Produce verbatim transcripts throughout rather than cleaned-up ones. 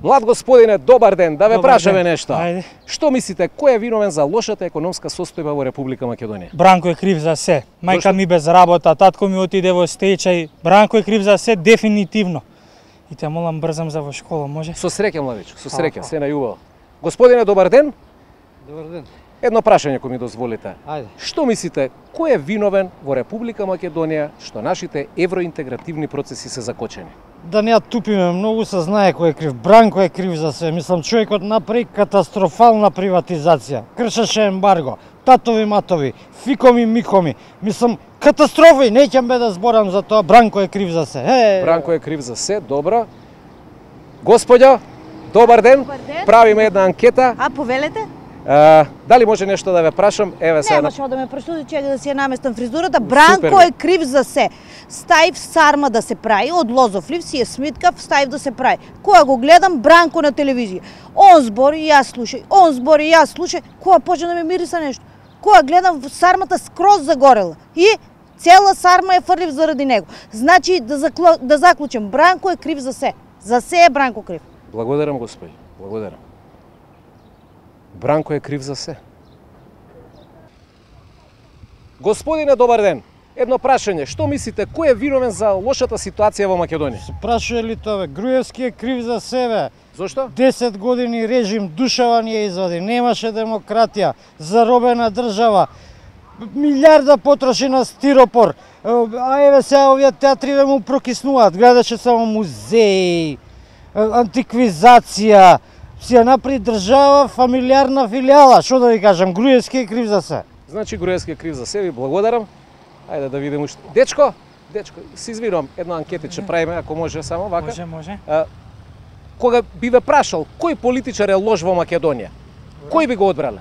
Млад господине, добар ден, да ве Добар прашаме ден. нешто. Ајде. Што мислите, кој е виновен за лошата економска состојба во Република Македонија? Бранко е крив за се. Мајка Зошто? ми без работа, татко ми отиде во стечај. Бранко е крив за се, дефинитивно. И те молам брзам за во школа, може? Со среќа, младичко, со среќа, Аха. се најубаво. Господине, добар ден. Добар ден. Едно прашање кој ми дозволите. Ајде. Што мислите, кој е виновен во Република Македонија што нашите евроинтегративни процеси се закочени? Да не ја тупиме, многу се знае кој е крив. Бранко е крив за се. Мислам, човекот направи катастрофална приватизација. Кршеше ембарго, татови матови, фикоми микоми. Мислам, катастрофи, неќам бе да зборам за тоа. Бранко е крив за се. Е, Бранко е крив за се, добро. Господјо, добар ден. Добар ден. Правиме една анкета. А, повелете? А, дали може нешто да ве прашам? Еве сега. Немаше да ме прашуди, чека да си ја наместам фризурата. Бранко Супер. е крив за се. Стаив сарма да се прави, од лозофлив си е смиткав, стаив да се прави. Кога го гледам Бранко на телевизија, он збори, јас слушај, он збори, јас слушај, кога почне да ме мириса нешто. Кога гледам сармата скроз загорела и цела сарма е фрлив заради него. Значи да закло... да заклучам, Бранко е крив за се. За се е Бранко крив. Благодарам, господи. Благодарам. Бранко е крив за се. Господине, добар ден. Едно прашање, што мислите, кој е виновен за лошата ситуација во Македонија? се прашува ли тоа, бе? Груевски е крив за себе. Зошто? десет години режим, душава ни ја извади, немаше демократија, заробена држава, милиарда потроши на стиропор, а еве сега овие театри да му прокиснуваат, гледаше само музеи, антиквизација, си ја направи држава, фамилиарна филијала, што да ви кажам, Груевски е крив за се. Значи Груевски е крив за себе, ви благодарам. Ајде да видиме уште. Дечко, дечко, се извинувам, едно анкетиче правиме, ако може само вака. Може, може. А, кога би ве прашал кој политичар е лош во Македонија, кој би го одбрале?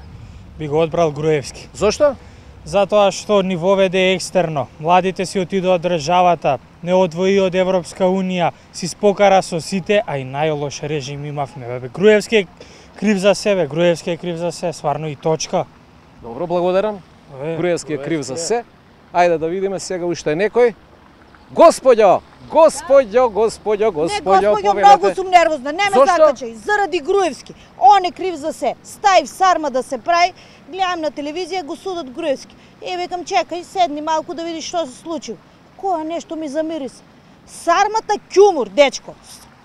Би го одбрал Груевски. Зошто? Затоа што ни воведе екстерно. Младите си отидоа од државата, не одвои од Европска унија, си спокара со сите, а и најлош режим имавме. Бе, Груевски е крив за себе, Груевски е крив за се, сварно и точка. Добро, благодарам. Е, Груевски е крив за се. Ајде да видиме сега уште некој. Господјо, господјо, господјо, Не, господјо, господјо, многу сум нервозна, не ме Зошто? закачај, заради Груевски. Он е крив за се. Стаив сарма да се прави, гледам на телевизија, го судат Груевски. И викам, чекај, седни малку да видиш што се случи. Која нешто ми замириса. Сармата ќумур, дечко.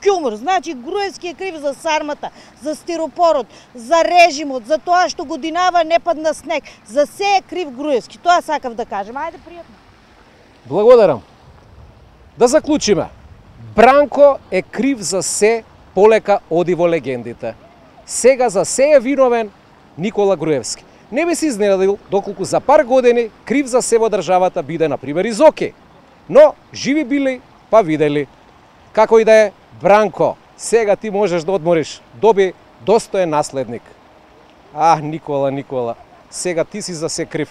Ќумур, значи Груевски е крив за сармата, за стиропорот, за режимот, за тоа што годинава не падна снег. За се е крив Груевски. Тоа сакав да кажем. Ајде, пријатно. Благодарам. Да заклучиме. Бранко е крив за се, полека оди во легендите. Сега за се е виновен Никола Груевски. Не би се изненадил доколку за пар години крив за се во државата биде на пример Изоки. Но живи били, па видели. Како и да е, Бранко, сега ти можеш да одмориш. Доби достоен наследник. А, Никола, Никола, сега ти си за се крив.